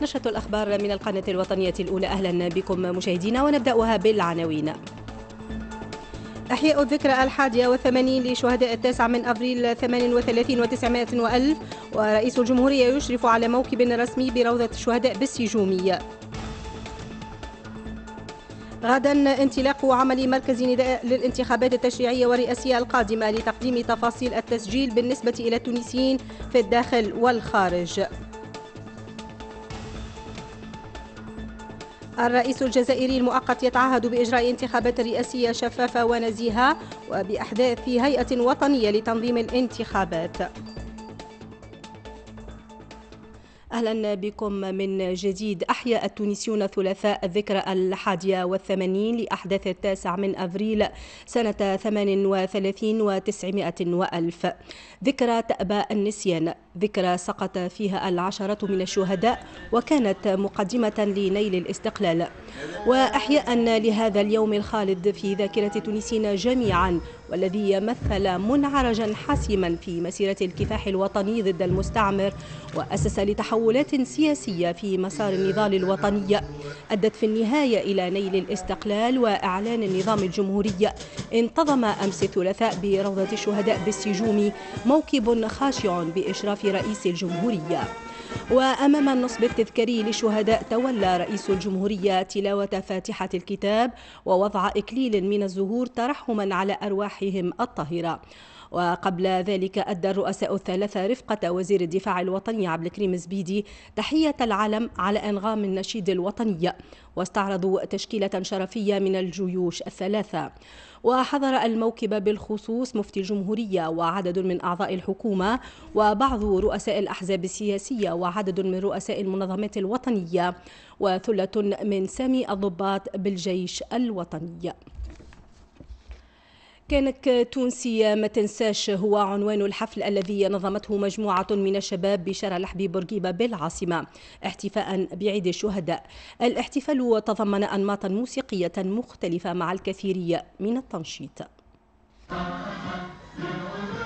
نشرة الأخبار من القناة الوطنية الأولى، أهلا بكم مشاهدينا، ونبدأها بالعناوين. أحياء الذكرى 81 لشهداء 9 أبريل 38 و900 وألف، ورئيس الجمهورية يشرف على موكب رسمي بروضة الشهداء بالسجومية. غدا انطلاق عمل مركز نداء للانتخابات التشريعية والرئاسية القادمة لتقديم تفاصيل التسجيل بالنسبة إلى التونسيين في الداخل والخارج. الرئيس الجزائري المؤقت يتعهد بإجراء انتخابات رئاسية شفافة ونزيهة وبأحداث هيئة وطنية لتنظيم الانتخابات. أهلا بكم من جديد. أحيا التونسيون الثلاثاء الذكرى 81 لأحداث 9 أبريل سنة 38 و900 وألف. ذكرى تأبى النسيان، ذكرى سقط فيها العشرة من الشهداء وكانت مقدمة لنيل الاستقلال. وأحياء لهذا اليوم الخالد في ذاكرة التونسيين جميعا، والذي مثل منعرجا حاسما في مسيرة الكفاح الوطني ضد المستعمر، وأسس لتحولات سياسية في مسار النضال الوطني أدت في النهاية إلى نيل الاستقلال وإعلان النظام الجمهوري. انتظم أمس الثلاثاء بروضة الشهداء بالسجوم موكب خاشع بإشراف رئيس الجمهورية. وأمام النصب التذكاري للشهداء تولى رئيس الجمهورية تلاوة فاتحة الكتاب ووضع إكليل من الزهور ترحما على أرواحهم الطاهرة. وقبل ذلك أدى الرؤساء الثلاثة رفقة وزير الدفاع الوطني عبد الكريم زبيدي تحية العلم على أنغام النشيد الوطني، واستعرضوا تشكيلة شرفية من الجيوش الثلاثة. وحضر الموكب بالخصوص مفتي الجمهورية وعدد من أعضاء الحكومة وبعض رؤساء الأحزاب السياسية وعدد من رؤساء المنظمات الوطنية وثلة من سامي الضباط بالجيش الوطني. كانك تونسي ما تنساش هو عنوان الحفل الذي نظمته مجموعة من الشباب بشارع الحبيب بورقيبة بالعاصمة احتفاء بعيد الشهداء. الاحتفال تضمن أنماطا موسيقية مختلفة مع الكثير من التنشيط.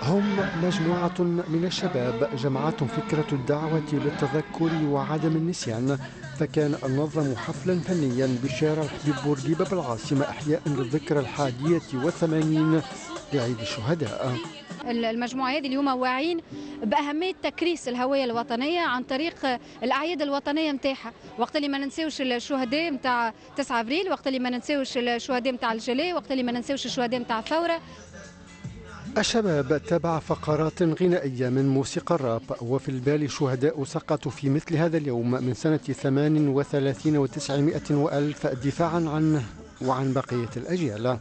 هم مجموعة من الشباب جمعتهم فكرة الدعوة للتذكر وعدم النسيان، فكان نظموا حفلا فنيا بشارع الحبيب بورقيبة بالعاصمة أحياء للذكرى 81 لعيد الشهداء. المجموعة هذه اليوم واعيين بأهمية تكريس الهوية الوطنية عن طريق الأعياد الوطنية نتاعها، وقت اللي ما ننساوش الشهداء نتاع 9 أبريل، وقت اللي ما ننساوش الشهداء نتاع الجلاء، وقت اللي ما ننساوش الشهداء نتاع الثورة. الشباب تابع فقرات غنائية من موسيقى الراب، وفي البال شهداء سقطوا في مثل هذا اليوم من سنة 38 و900 وألف دفاعا عنه وعن بقية الأجيال.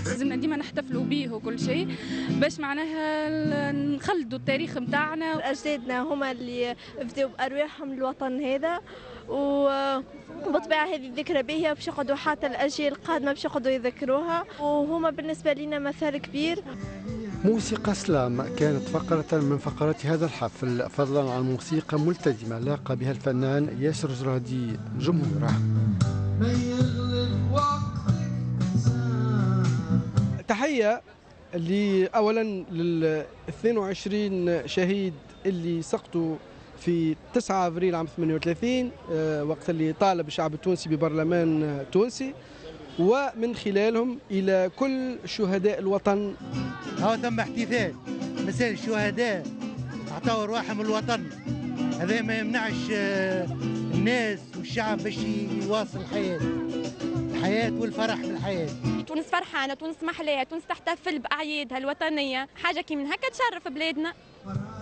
لازمنا ديما نحتفلوا به وكل شيء باش معناها نخلدوا التاريخ نتاعنا. أجدادنا هما اللي فدوا بأرواحهم للوطن هذا، وبطبيعة هذه الذكرى باهية باش يقعدوا حتى الأجيال القادمة باش يقعدوا يذكروها، وهما بالنسبة لنا مثال كبير. موسيقى سلام كانت فقرة من فقرات هذا الحفل، فضلا عن موسيقى ملتزمة لاقى بها الفنان ياسر زرادي جمهوره. تحية أولا لل 22 شهيد اللي سقطوا في 9 أبريل عام 38 وقت اللي طالب الشعب التونسي ببرلمان تونسي، ومن خلالهم إلى كل شهداء الوطن. هو ثم احتفال مثال الشهداء أعطوا أرواحهم الوطن، هذا ما يمنعش الناس والشعب باش يواصل الحياة، الحياة والفرح بالحياة. تونس فرحانة، تونس محلاها، تونس تحتفل بأعيادها الوطنية، حاجة كي من هكا تشرف بلادنا.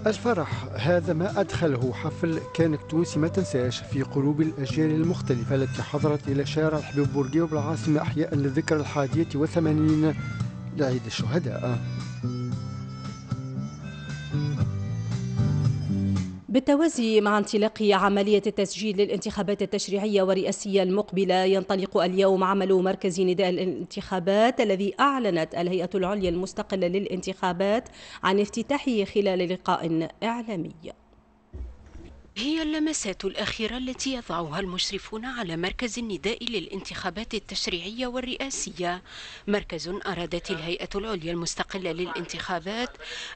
الفرح هذا ما أدخله حفل كانك تونسي ما تنساش في قلوب الأجيال المختلفة التي حضرت إلى شارع الحبيب بورقيبة بالعاصمة أحياء للذكرى 81 لعيد الشهداء. بالتوازي مع انطلاق عملية التسجيل للانتخابات التشريعية والرئاسية المقبلة، ينطلق اليوم عمل مركز نداء الانتخابات الذي أعلنت الهيئة العليا المستقلة للانتخابات عن افتتاحه خلال لقاء إعلامي. هي اللمسات الأخيرة التي يضعها المشرفون على مركز النداء للانتخابات التشريعية والرئاسية، مركز أرادت الهيئة العليا المستقلة للانتخابات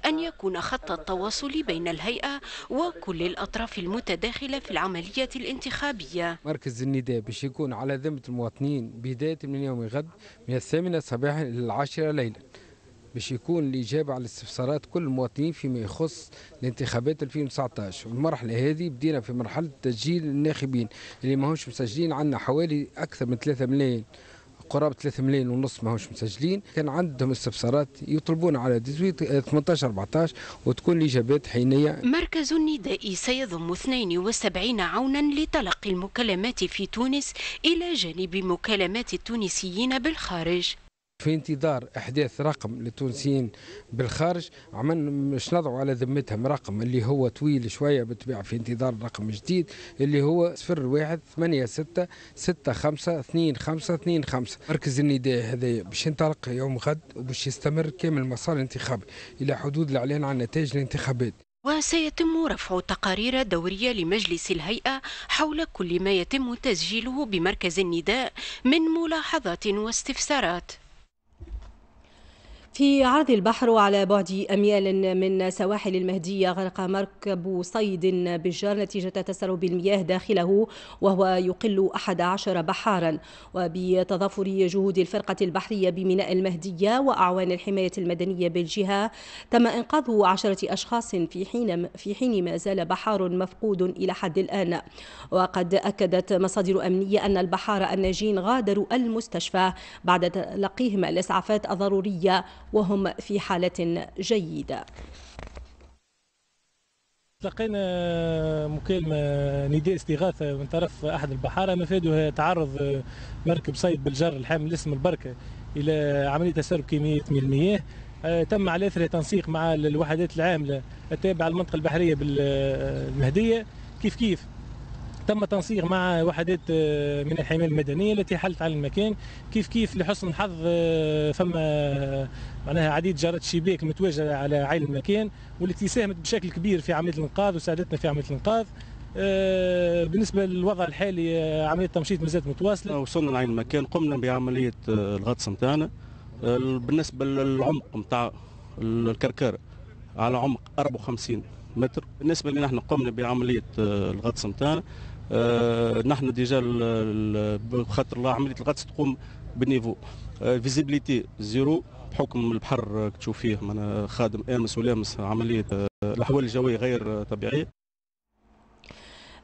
أن يكون خط التواصل بين الهيئة وكل الأطراف المتداخلة في العملية الانتخابية. مركز النداء باش يكون على ذمة المواطنين بداية من يوم غد من 8 صباحا إلى 10 ليلا، باش يكون الإجابة على استفسارات كل المواطنين فيما يخص الانتخابات 2019. والمرحلة هذه بدينا في مرحلة تسجيل الناخبين اللي ماهوش مسجلين، عندنا حوالي أكثر من 3 ملايين، قرابة 3 ملايين ونص ماهوش مسجلين. كان عندهم استفسارات يطلبون على 18 14 وتكون الإجابات حينية. مركز النداء سيضم 72 عونا لتلقي المكالمات في تونس إلى جانب مكالمات التونسيين بالخارج. في انتظار احداث رقم للتونسيين بالخارج، عملنا مش نضعوا على ذمتهم رقم اللي هو طويل شوية بالطبيعة، في انتظار رقم جديد اللي هو 01 86 65 25 25. مركز النداء هذا باش ينطلق يوم غد وباش يستمر كامل المسار الانتخابي الى حدود الاعلان عن نتائج الانتخابات. وسيتم رفع تقارير دورية لمجلس الهيئة حول كل ما يتم تسجيله بمركز النداء من ملاحظات واستفسارات. في عرض البحر وعلى بعد أميال من سواحل المهدية غرق مركب صيد بالجار نتيجة تسرب المياه داخله وهو يقل 11 بحارا. وبتضافر جهود الفرقة البحرية بميناء المهدية وأعوان الحماية المدنية بالجهة تم إنقاذ 10 أشخاص في حين ما زال بحار مفقود إلى حد الآن. وقد أكدت مصادر أمنية أن البحار الناجين غادروا المستشفى بعد تلقيهم الإسعافات الضرورية وهم في حالة جيدة. تلقينا مكالمة نداء استغاثة من طرف أحد البحارة مفادها تعرض مركب صيد بالجر الحامل اسم البركة إلى عملية تسرب كمية من المياه. تم على إثره تنسيق مع الوحدات العاملة التابعة للمنطقة البحرية بالمهدية. كيف كيف تم تنسيق مع وحدات من الحماية المدنية التي حلت على المكان. كيف كيف لحسن الحظ فما معناها عديد جارات الشباك المتواجدة على عين المكان والتي ساهمت بشكل كبير في عملية الانقاذ وساعدتنا في عملية الانقاذ. بالنسبة للوضع الحالي عملية التمشيط مازالت متواصلة. وصلنا لعين المكان، قمنا بعملية الغطس نتاعنا. بالنسبة للعمق نتاع الكركار على عمق 54 متر. بالنسبة لنا احنا قمنا بعملية الغطس نتاعنا. نحن déjà بخاطر الله عملية الغطس تقوم بال niveau visibilité zéro بحكم البحر تشوف فيه خادم امس ولامس عملية الاحوال الجوية غير طبيعية.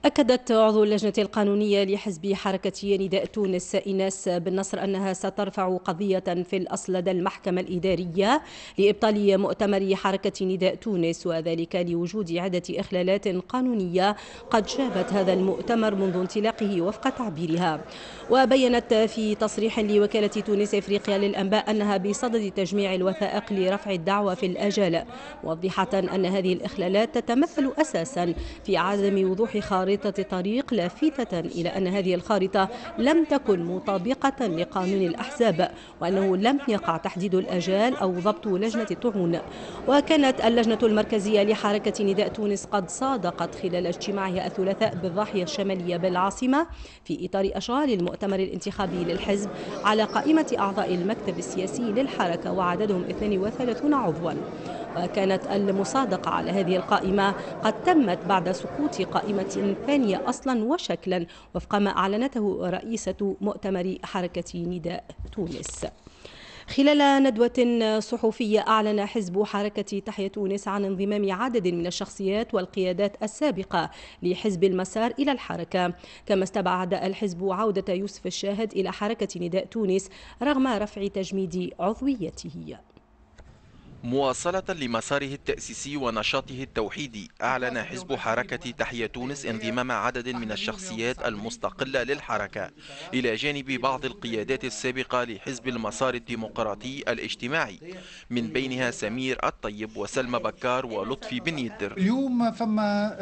أكدت عضو اللجنة القانونية لحزب حركة نداء تونس إيناس بن نصر أنها سترفع قضية في الأصل لدى المحكمة الإدارية لإبطال مؤتمر حركة نداء تونس، وذلك لوجود عدة إخلالات قانونية قد شابت هذا المؤتمر منذ انطلاقة وفق تعبيرها. وبينت في تصريح لوكالة تونس إفريقيا للأنباء أنها بصدد تجميع الوثائق لرفع الدعوى في الآجال، موضحة أن هذه الإخلالات تتمثل أساسا في عدم وضوح خارطة طريق، لافتة إلى أن هذه الخارطة لم تكن مطابقة لقانون الأحزاب، وأنه لم يقع تحديد الآجال أو ضبط لجنة الطعون. وكانت اللجنة المركزية لحركة نداء تونس قد صادقت خلال اجتماعها الثلاثاء بالضاحية الشمالية بالعاصمة في إطار أشغال المؤتمر الانتخابي للحزب على قائمة أعضاء المكتب السياسي للحركة وعددهم 32 عضوا. وكانت المصادقة على هذه القائمة قد تمت بعد سقوط قائمة ثانية أصلا وشكلا وفق ما أعلنته رئيسة مؤتمر حركة نداء تونس. خلال ندوة صحفية أعلن حزب حركة تحيا تونس عن انضمام عدد من الشخصيات والقيادات السابقة لحزب المسار إلى الحركة، كما استبعد الحزب عودة يوسف الشاهد إلى حركة نداء تونس رغم رفع تجميد عضويته. مواصلة لمساره التأسيسي ونشاطه التوحيدي، أعلن حزب حركة تحيا تونس انضمام عدد من الشخصيات المستقلة للحركة إلى جانب بعض القيادات السابقة لحزب المسار الديمقراطي الاجتماعي، من بينها سمير الطيب وسلمى بكار ولطفي بن يدر. اليوم فما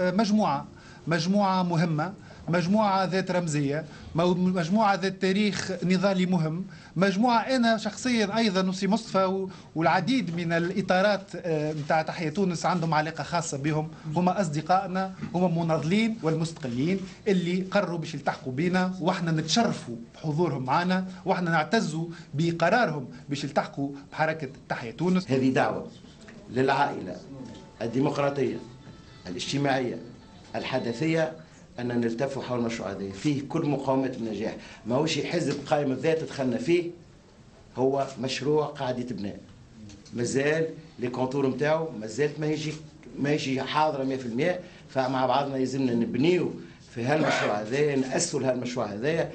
مجموعة مهمة مجموعة ذات رمزية، مجموعة ذات تاريخ نضالي مهم، مجموعة أنا شخصيا أيضا وسي مصطفى والعديد من الإطارات نتاع تحيا تونس عندهم علاقة خاصة بهم، هما أصدقائنا، هما مناضلين والمستقلين اللي قرروا باش يلتحقوا بينا، واحنا نتشرفوا بحضورهم معنا، واحنا نعتزوا بقرارهم باش يلتحقوا بحركة تحيا تونس. هذه دعوة للعائلة الديمقراطية الاجتماعية الحدثية أن نلتف حول المشروع هذا، فيه كل مقاومات النجاح، ماهوش حزب قائم الذات دخلنا فيه، هو مشروع قاعد يتبنى، مازال les contours نتاعو مازالت ماهيش حاضرة 100%، فمع بعضنا يلزمنا نبنيو في هالمشروع هذا، نأسسوا لهالمشروع هذا.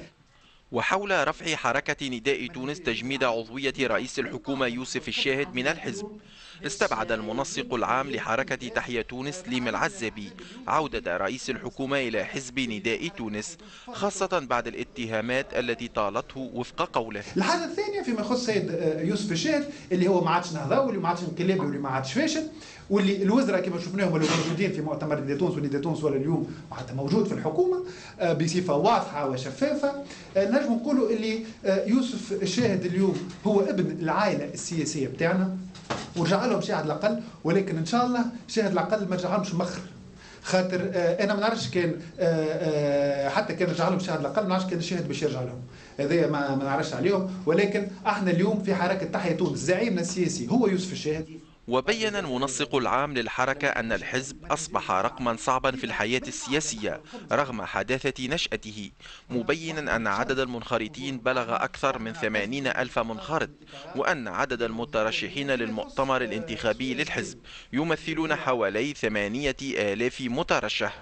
وحول رفع حركة نداء تونس تجميد عضوية رئيس الحكومة يوسف الشاهد من الحزب، استبعد المنسق العام لحركة تحيا تونس ليم العزابي عودة رئيس الحكومة إلى حزب نداء تونس، خاصة بعد الاتهامات التي طالته وفق قوله. الحاجة الثانية فيما يخص سيد يوسف الشاهد اللي هو ما عادش نهضاوي، واللي ما عادش انقلابي، واللي ما عادش فاشل، واللي الوزراء كما شفناهم اللي موجودين في مؤتمر نداء تونس، ونداء تونس ولا اليوم معناتها موجود في الحكومة بصفة واضحة وشفافة، نجم نقولوا اللي يوسف الشاهد اليوم هو ابن العائلة السياسية بتاعنا ورجع لهم شاهد العقل، ولكن ان شاء الله شاهد العقل ما رجع لهمش مخر، خاطر انا ما نعرفش كان حتى كان رجع لهم شاهد العقل ما نعرفش كان الشاهد باش يرجع لهم، هذايا ما نعرفش عليهم، ولكن احنا اليوم في حركة تحيا تونس زعيمنا السياسي هو يوسف الشاهد. وبين المنسق العام للحركة أن الحزب أصبح رقما صعبا في الحياة السياسية رغم حداثة نشأته، مبينا أن عدد المنخرطين بلغ أكثر من 80 ألف منخرط، وأن عدد المترشحين للمؤتمر الانتخابي للحزب يمثلون حوالي 8000 مترشح.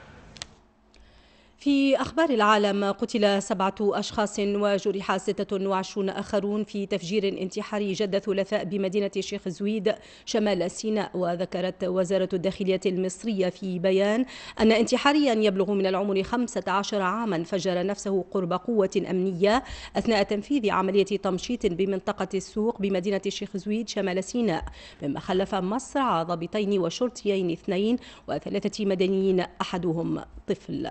في أخبار العالم، قتل 7 أشخاص وجرح 26 آخرون في تفجير انتحاري جد ثلاثاء بمدينة الشيخ زويد شمال سيناء. وذكرت وزارة الداخلية المصرية في بيان أن انتحاريا يبلغ من العمر 15 عاما فجر نفسه قرب قوة أمنية أثناء تنفيذ عملية تمشيط بمنطقة السوق بمدينة الشيخ زويد شمال سيناء، مما خلف مصرع ضابطين وشرطيين 2 و3 مدنيين أحدهم طفل.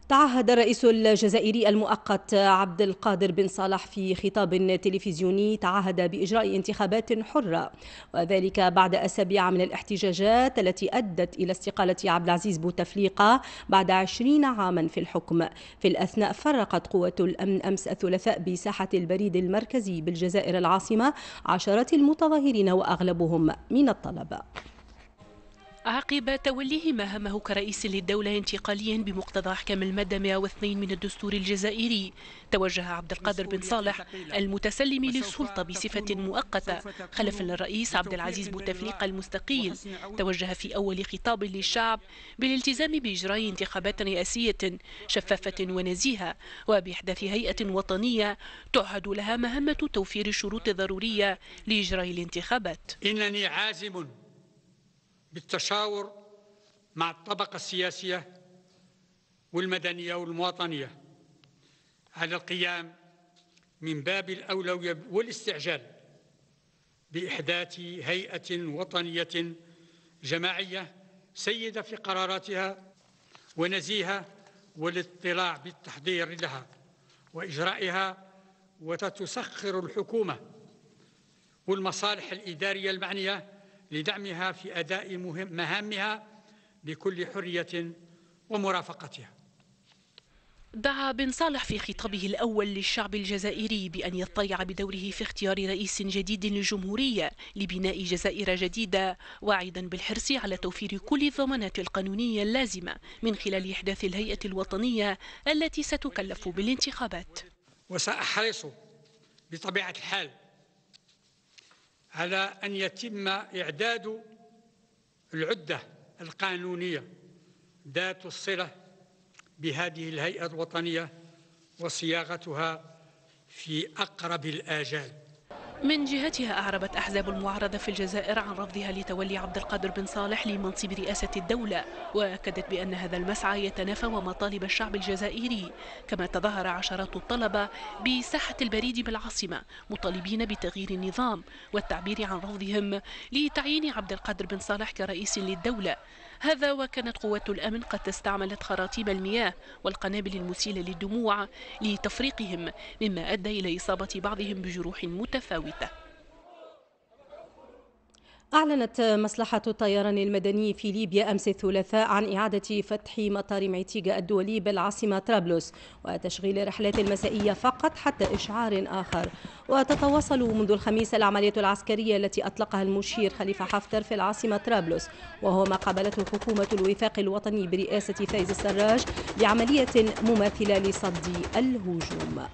تعهد الرئيس الجزائري المؤقت عبد القادر بن صالح في خطاب تلفزيوني تعهد بإجراء انتخابات حرة، وذلك بعد أسابيع من الاحتجاجات التي أدت إلى استقالة عبد العزيز بوتفليقة بعد 20 عاما في الحكم. في الأثناء فرقت قوة الأمن أمس الثلاثاء بساحة البريد المركزي بالجزائر العاصمة عشرات المتظاهرين وأغلبهم من الطلبة. عقب توليه مهامه كرئيس للدولة انتقاليا بمقتضى أحكام المادة 102 من الدستور الجزائري، توجه عبد القادر بن صالح المتسلم للسلطة بصفة مؤقتة خلفا للرئيس عبد العزيز بوتفليقة المستقيل، توجه في أول خطاب للشعب بالالتزام بإجراء انتخابات رئاسية شفافة ونزيهة وبإحداث هيئة وطنية تعهد لها مهمة توفير الشروط الضرورية لإجراء الانتخابات. إنني عازم بالتشاور مع الطبقة السياسية والمدنية والمواطنية على القيام من باب الأولوية والاستعجال بإحداث هيئة وطنية جماعية سيدة في قراراتها ونزيهة والاطلاع بالتحضير لها وإجرائها، وتتسخر الحكومة والمصالح الإدارية المعنية لدعمها في أداء مهامها بكل حرية ومرافقتها. دعا بن صالح في خطابه الأول للشعب الجزائري بأن يطلع بدوره في اختيار رئيس جديد للجمهورية لبناء جزائر جديدة، واعدا بالحرص على توفير كل الضمانات القانونية اللازمة من خلال إحداث الهيئة الوطنية التي ستكلف بالانتخابات. وسأحرص بطبيعة الحال على أن يتم إعداد العدة القانونية ذات الصلة بهذه الهيئة الوطنية وصياغتها في أقرب الآجال. من جهتها أعربت أحزاب المعارضة في الجزائر عن رفضها لتولي عبد القادر بن صالح لمنصب رئاسة الدولة، وأكدت بأن هذا المسعى يتنافى ومطالب الشعب الجزائري. كما تظاهر عشرات الطلبة بساحة البريد بالعاصمة مطالبين بتغيير النظام والتعبير عن رفضهم لتعيين عبد القادر بن صالح كرئيس للدولة. هذا وكانت قوات الأمن قد استعملت خراطيم المياه والقنابل المسيلة للدموع لتفريقهم، مما أدى إلى إصابة بعضهم بجروح متفاوتة. أعلنت مصلحة الطيران المدني في ليبيا أمس الثلاثاء عن إعادة فتح مطار معتيقة الدولي بالعاصمة طرابلس وتشغيل الرحلات المسائية فقط حتى إشعار آخر. وتتواصل منذ الخميس العملية العسكرية التي أطلقها المشير خليفة حفتر في العاصمة طرابلس، وهو ما قابلته حكومة الوفاق الوطني برئاسة فايز السراج بعملية مماثلة لصد الهجوم.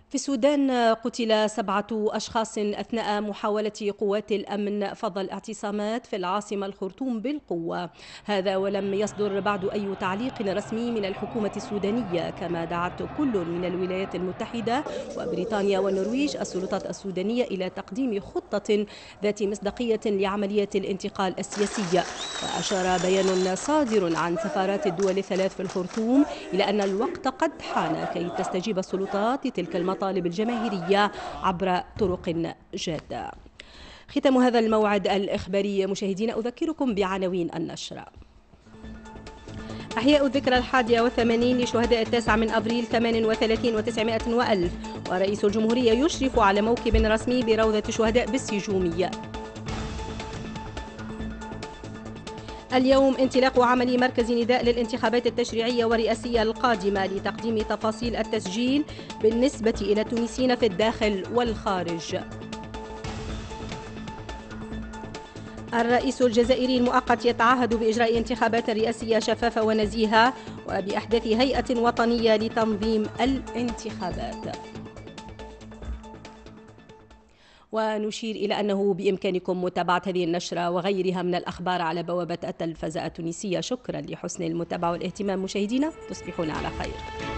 في السودان قتل 7 أشخاص أثناء محاولة قوات الأمن فض الاعتصامات في العاصمة الخرطوم بالقوة، هذا ولم يصدر بعد أي تعليق رسمي من الحكومة السودانية، كما دعت كل من الولايات المتحدة وبريطانيا والنرويج السلطات السودانية إلى تقديم خطة ذات مصداقية لعملية الانتقال السياسي. وأشار بيان صادر عن سفارات الدول الثلاث في الخرطوم إلى أن الوقت قد حان كي تستجيب السلطات لتلك المطالب الجماهيرية عبر طرق جادة. ختام هذا الموعد الإخباري مشاهدينا، أذكركم بعناوين النشرة. أحياء الذكرى 81 لشهداء 9 أبريل 38 و900 وألف، ورئيس الجمهورية يشرف على موكب رسمي بروضة الشهداء بالسجومية. اليوم انطلاق عمل مركز نداء للانتخابات التشريعية والرئاسية القادمة لتقديم تفاصيل التسجيل بالنسبة إلى التونسيين في الداخل والخارج. الرئيس الجزائري المؤقت يتعهد بإجراء انتخابات رئاسية شفافة ونزيهة وبأحداث هيئة وطنية لتنظيم الانتخابات. ونشير إلى أنه بإمكانكم متابعة هذه النشرة وغيرها من الأخبار على بوابة التلفزة التونسية. شكرا لحسن المتابعة والاهتمام مشاهدينا، تصبحون على خير.